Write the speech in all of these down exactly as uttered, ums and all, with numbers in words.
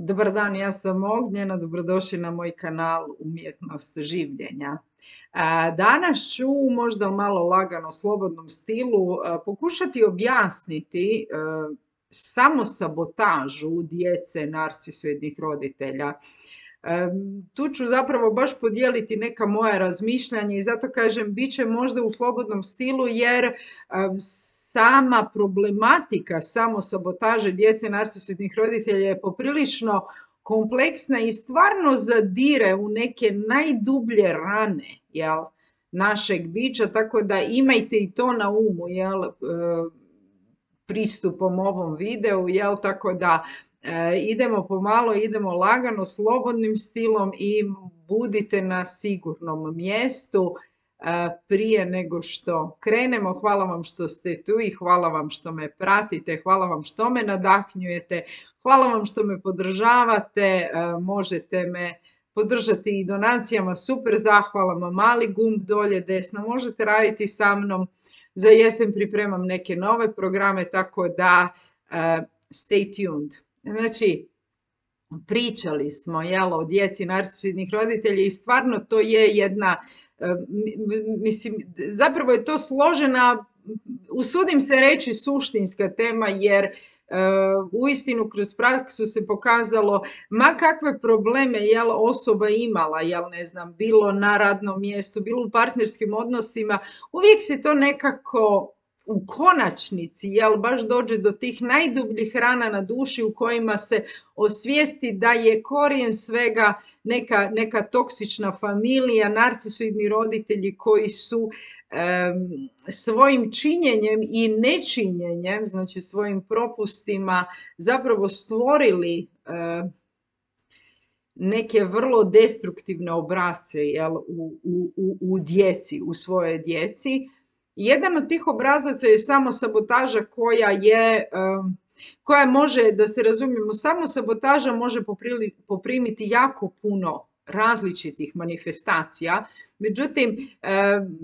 Dobar dan, ja sam Ognjena, dobrodošli na moj kanal Umjetnost življenja. A, Danas ću možda malo lagano, slobodnom stilu a, pokušati objasniti a, samosabotažu djece narcisoidnih roditelja. Em, Tu ću zapravo baš podijeliti neka moja razmišljanja i zato kažem bit će možda u slobodnom stilu jer em, sama problematika samosabotaže djece narcisoidnih roditelja je poprilično kompleksna i stvarno zadire u neke najdublje rane, jel, našeg bića, tako da imajte i to na umu, jel, e, pristupom ovom videu, jel, tako da e, idemo pomalo, idemo lagano, slobodnim stilom i budite na sigurnom mjestu e, prije nego što krenemo. Hvala vam što ste tu i hvala vam što me pratite, hvala vam što me nadahnjujete, hvala vam što me podržavate, e, možete me podržati i donacijama, super zahvalama, mali gumb dolje desno, možete raditi sa mnom. Za jesen pripremam neke nove programe, tako da uh, stay tuned. Znači, pričali smo, jel, o djeci narcisoidnih roditelja i stvarno to je jedna, uh, mislim, zapravo je to složena, usudim se reći, suštinska tema, jer Uh, uistinu kroz praksu se pokazalo ma kakve probleme, jel, osoba imala, jel, ne znam, bilo na radnom mjestu, bilo u partnerskim odnosima, uvijek se to nekako u konačnici, jel, baš dođe do tih najdubljih rana na duši u kojima se osvijesti da je korijen svega neka, neka toksična familija, narcisoidni roditelji koji su svojim činjenjem i nečinjenjem, znači svojim propustima, zapravo stvorili neke vrlo destruktivne obrasce, jel, u, u, u djeci, u svojoj djeci. Jedan od tih obrazaca je samosabotaža koja je, koja može, da se razumijemo, samosabotaža može poprimiti jako puno različitih manifestacija. Međutim,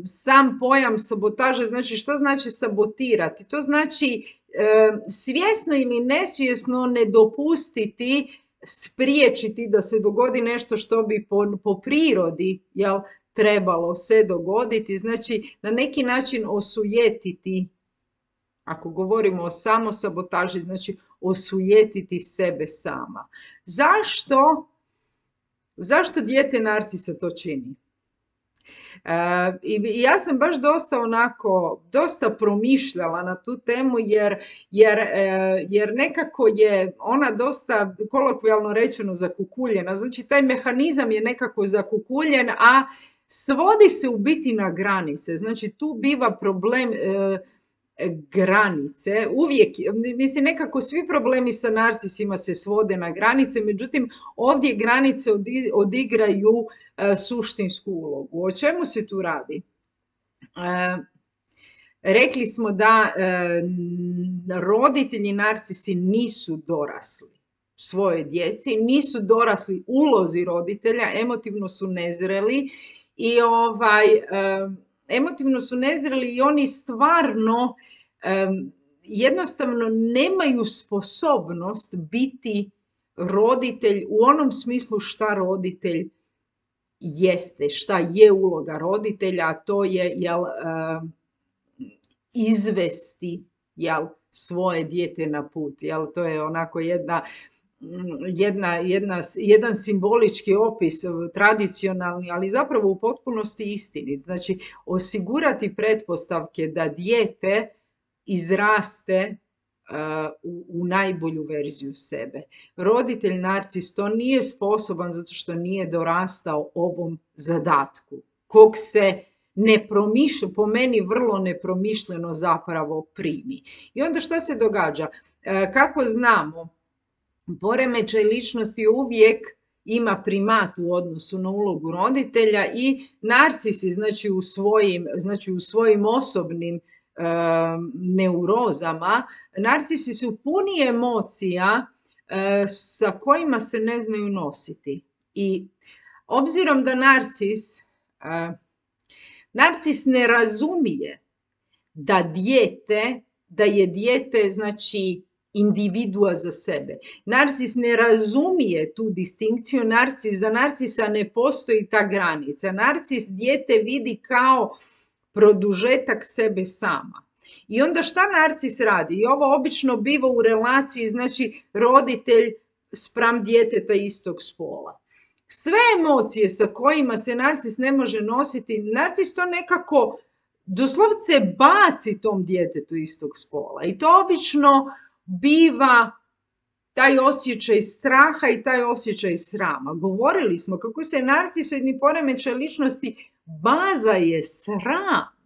sam pojam sabotaže, znači što znači sabotirati? To znači svjesno ili nesvjesno ne dopustiti, spriječiti da se dogodi nešto što bi po, po prirodi, jel, trebalo se dogoditi. Znači, na neki način osujetiti, ako govorimo o samosabotaži, znači osujetiti sebe sama. Zašto? Zašto dijete narcisa to čini? E, I ja sam baš dosta onako, dosta promišljala na tu temu jer, jer, e, jer nekako je ona dosta, kolokvijalno rečeno, zakukuljena. Znači taj mehanizam je nekako zakukuljen, a svodi se u biti na granice. Znači tu biva problem e, granice. Uvijek, mislim, nekako svi problemi sa narcisima se svode na granice, međutim ovdje granice odigraju e, suštinsku ulogu. O čemu se tu radi? E, rekli smo da e, roditelji narcisi nisu dorasli svoje djeci, nisu dorasli ulozi roditelja, emotivno su nezreli i ovaj... E, emotivno su nezreli i oni stvarno um, jednostavno nemaju sposobnost biti roditelj u onom smislu šta roditelj jeste, šta je uloga roditelja, a to je, jel, um, izvesti, jel, svoje dijete na put. Jel, to je onako jedna Jedna, jedna, jedan simbolički opis, tradicionalni, ali zapravo u potpunosti istinit. Znači, osigurati pretpostavke da dijete izraste uh, u, u najbolju verziju sebe. Roditelj narcis to nije sposoban zato što nije dorastao ovom zadatku, kog se nepromišljeno, po meni vrlo nepromišljeno zapravo primi. I onda šta se događa? Uh, kako znamo? Poremećaj ličnosti uvijek ima primat u odnosu na ulogu roditelja i narcisi, znači u svojim, znači u svojim osobnim e, neurozama, narcisi su puni emocija e, sa kojima se ne znaju nositi. I obzirom da narcis, e, narcis ne razumije da dijete, da je dijete, znači, individua za sebe. Narcis ne razumije tu distinkciju, narcis, za narcisa ne postoji ta granica. Narcis dijete vidi kao produžetak sebe sama. I onda šta narcis radi? I ovo obično biva u relaciji, znači roditelj spram djeteta istog spola. Sve emocije sa kojima se narcis ne može nositi, narcis to nekako doslovce baci tom djetetu istog spola. I to obično biva taj osjećaj straha i taj osjećaj srama. Govorili smo kako se narcisoidni poremećaj ličnosti, baza je sram.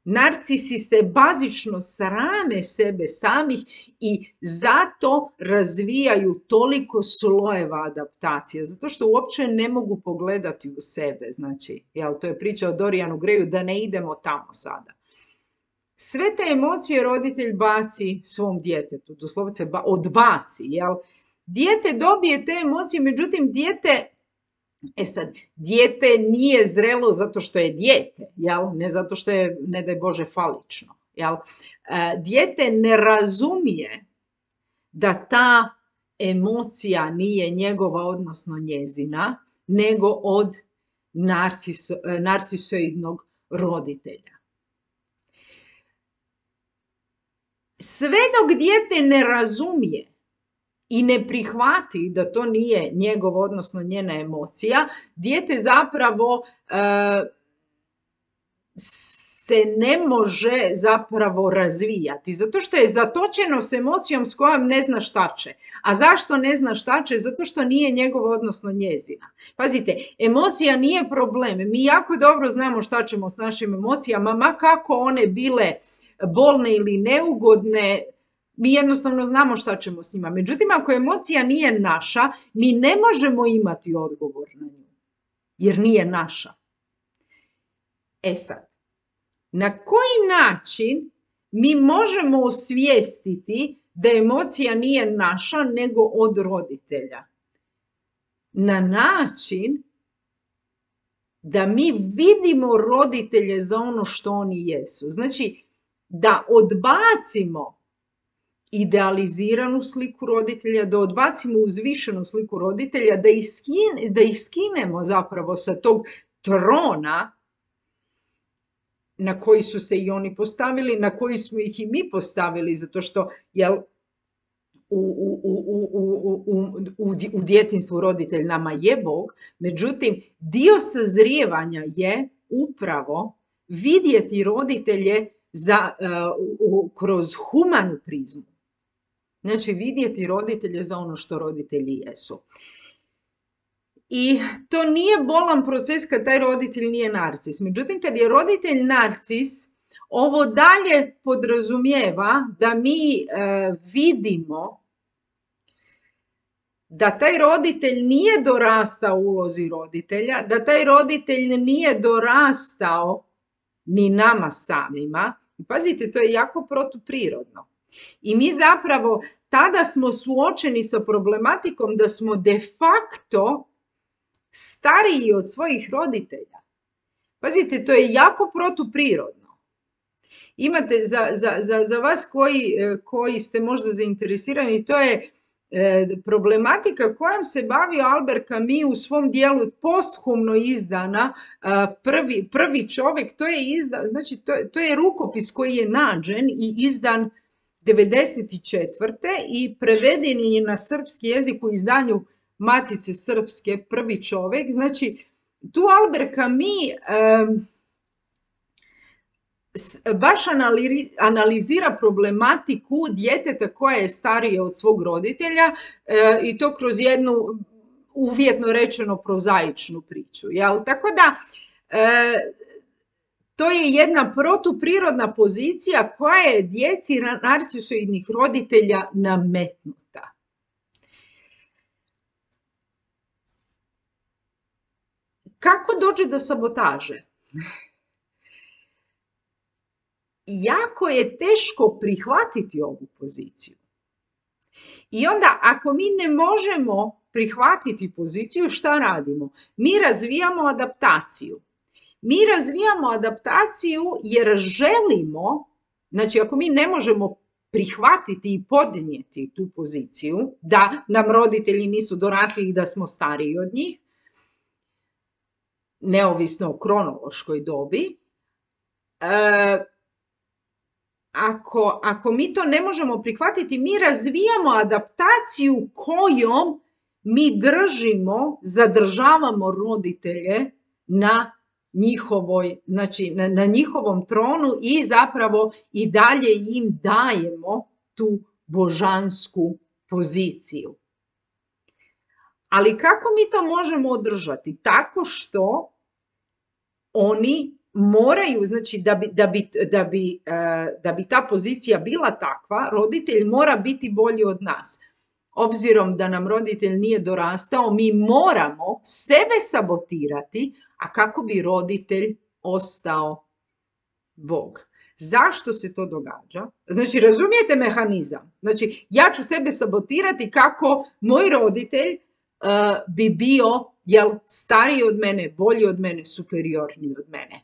Narcisi se bazično srame sebe samih i zato razvijaju toliko slojeva adaptacije, zato što uopće ne mogu pogledati u sebe. Znači, jel, to je priča o Dorianu Greju, da ne idemo tamo sada. Sve te emocije roditelj baci svom djetetu, doslovce ba, odbaci. Jel? Dijete dobije te emocije, međutim dijete, e sad, dijete nije zrelo zato što je dijete, jel? Ne zato što je, ne daj Bože, falično. Jel? E, dijete ne razumije da ta emocija nije njegova, odnosno njezina, nego od narciso, narcisoidnog roditelja. Sve dok dijete ne razumije i ne prihvati da to nije njegov, odnosno njena emocija, dijete zapravo e, se ne može zapravo razvijati, zato što je zatočeno s emocijom s kojom ne zna šta će. A zašto ne zna šta će? Zato što nije njegov, odnosno njezina. Pazite, emocija nije problem. Mi jako dobro znamo šta ćemo s našim emocijama, ma kako one bile bolne ili neugodne, mi jednostavno znamo šta ćemo s njima. Međutim, ako emocija nije naša, mi ne možemo imati odgovor na nju, jer nije naša. E sad, na koji način mi možemo osvijestiti da emocija nije naša, nego od roditelja? Na način da mi vidimo roditelje za ono što oni jesu. Znači, da odbacimo idealiziranu sliku roditelja, da odbacimo uzvišenu sliku roditelja, da ih, skine, da ih skinemo zapravo sa tog trona na koji su se i oni postavili, na koji smo ih i mi postavili, zato što jel, u, u, u, u, u, u, u djetinjstvu roditelj nama je Bog, međutim, dio sazrijevanja je upravo vidjeti roditelje za, uh, kroz humanu prizmu. Znači, vidjeti roditelje za ono što roditelji jesu. I to nije bolan proces kad taj roditelj nije narcis. Međutim, kad je roditelj narcis, ovo dalje podrazumijeva da mi e, vidimo da taj roditelj nije dorastao ulozi roditelja, da taj roditelj nije dorastao ni nama samima. I pazite, to je jako protuprirodno. I mi zapravo tada smo suočeni sa problematikom da smo de facto stariji od svojih roditelja. Pazite, to je jako protuprirodno. Imate za, za, za, za vas koji, koji ste možda zainteresirani, to je e, problematika kojom se bavio Albert Camus u svom dijelu posthumno izdana a, prvi, prvi čovjek, to je, izda, znači, to, to je rukopis koji je nađen i izdan devedeset četvrte i preveden je na srpski jezik u izdanju Matice srpske, prvi čovjek. Znači, tu Albert Camus um, baš analizira problematiku djeteta koja je starije od svog roditelja uh, i to kroz jednu, uvjetno rečeno, prozaičnu priču. Jel? Tako da, uh, to je jedna protuprirodna pozicija koja je djeci narcisoidnih roditelja nametnuta. Kako dođe do sabotaže? Jako je teško prihvatiti ovu poziciju. I onda ako mi ne možemo prihvatiti poziciju, šta radimo? Mi razvijamo adaptaciju. Mi razvijamo adaptaciju jer želimo, znači ako mi ne možemo prihvatiti i podnijeti tu poziciju, da nam roditelji nisu dorasli i da smo stariji od njih, neovisno o kronološkoj dobi. E, ako, ako mi to ne možemo prihvatiti, mi razvijamo adaptaciju kojom mi držimo, zadržavamo roditelje na njihovoj, znači na, na njihovom tronu i zapravo i dalje im dajemo tu božansku poziciju. Ali kako mi to možemo održati? Tako što oni moraju, znači da bi, da bi, da bi, da bi ta pozicija bila takva, roditelj mora biti bolji od nas. Obzirom da nam roditelj nije dorastao, mi moramo sebe sabotirati, a kako bi roditelj ostao Bog. Zašto se to događa? Znači, razumijete mehanizam? Znači, ja ću sebe sabotirati kako moj roditelj uh, bi bio, jel, stariji od mene, bolji od mene, superiorniji od mene.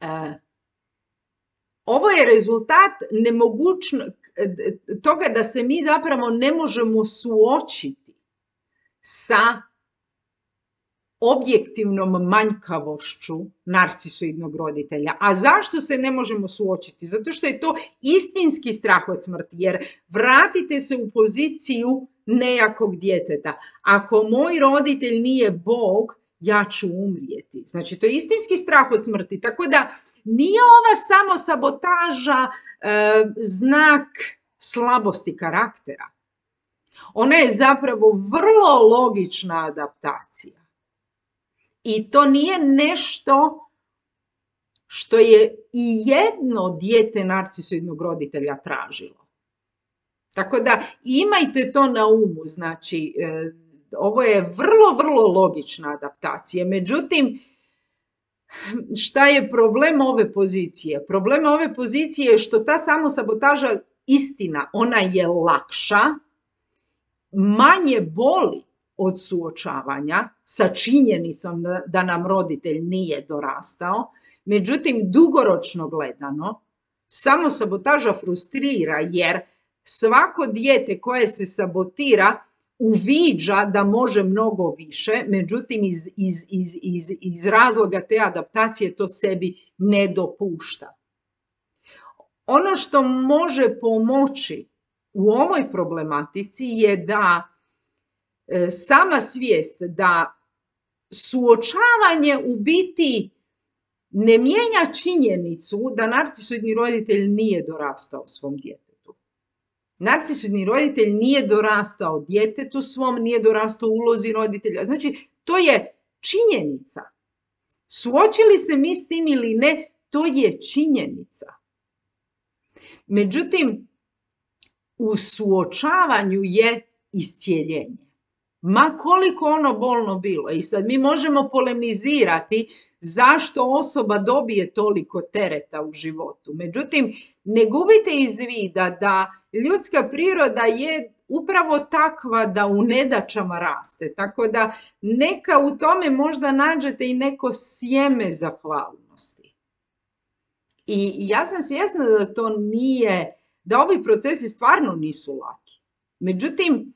Uh, ovo je rezultat nemogućno, toga da se mi zapravo ne možemo suočiti sa objektivnom manjkavošću narcisoidnog roditelja. A zašto se ne možemo suočiti? Zato što je to istinski strah od smrti, jer vratite se u poziciju nejakog djeteta. Ako moj roditelj nije Bog, ja ću umrijeti. Znači, to je istinski strah od smrti. Tako da nije ova samo sabotaža e, znak slabosti karaktera. Ona je zapravo vrlo logična adaptacija. I to nije nešto što je i jedno dijete narcisoidnog roditelja tražilo. Tako da imajte to na umu. Znači, e, ovo je vrlo, vrlo logična adaptacija. Međutim, šta je problem ove pozicije? Problem ove pozicije je što ta samosabotaža, istina, ona je lakša, manje boli od suočavanja sa činjenicom da, da nam roditelj nije dorastao. Međutim, dugoročno gledano, samosabotaža frustrira jer svako dijete koje se sabotira uviđa da može mnogo više, međutim iz, iz, iz, iz, iz razloga te adaptacije to sebi ne dopušta. Ono što može pomoći u ovoj problematici je da e, sama svijest da suočavanje u biti ne mijenja činjenicu da narcisoidni roditelj nije dorastao svom djetetu. Narcisoidni roditelj nije dorastao djetetu svom, nije dorastao ulozi roditelja. Znači, to je činjenica. Suočili se mi s tim ili ne, to je činjenica. Međutim, u suočavanju je iscijeljenje. Ma koliko ono bolno bilo. I sad mi možemo polemizirati zašto osoba dobije toliko tereta u životu. Međutim, ne gubite iz vida da ljudska priroda je upravo takva da u nedaćama raste. Tako da neka u tome možda nađete i neko sjeme zahvalnosti. I ja sam svjesna da to nije, da ovi procesi stvarno nisu laki. Međutim,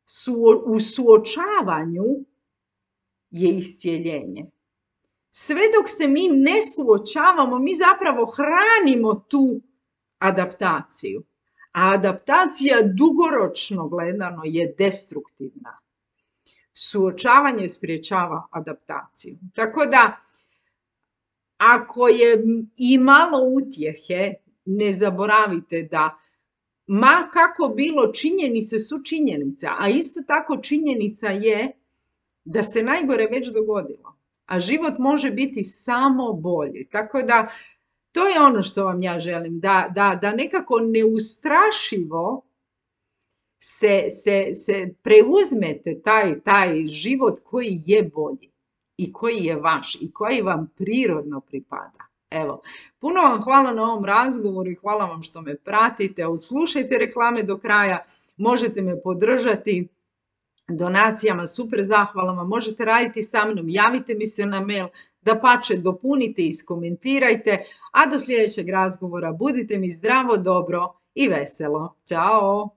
su, u suočavanju je iscijeljenje. Sve dok se mi ne suočavamo, mi zapravo hranimo tu adaptaciju. A adaptacija dugoročno gledano je destruktivna. Suočavanje sprječava adaptaciju. Tako da, ako je i malo utjehe, ne zaboravite da ma kako bilo, činjenice su činjenica, a isto tako činjenica je da se najgore već dogodilo. A život može biti samo bolji. Tako da, to je ono što vam ja želim, da, da, da nekako neustrašivo se, se, se preuzmete taj, taj život koji je bolji i koji je vaš i koji vam prirodno pripada. Evo, puno vam hvala na ovom razgovoru i hvala vam što me pratite. Odslušajte reklame do kraja, možete me podržati donacijama, super zahvalama, možete raditi sa mnom, javite mi se na mail, dapače dopunite i iskomentirajte, a do sljedećeg razgovora budite mi zdravo, dobro i veselo. Ćao!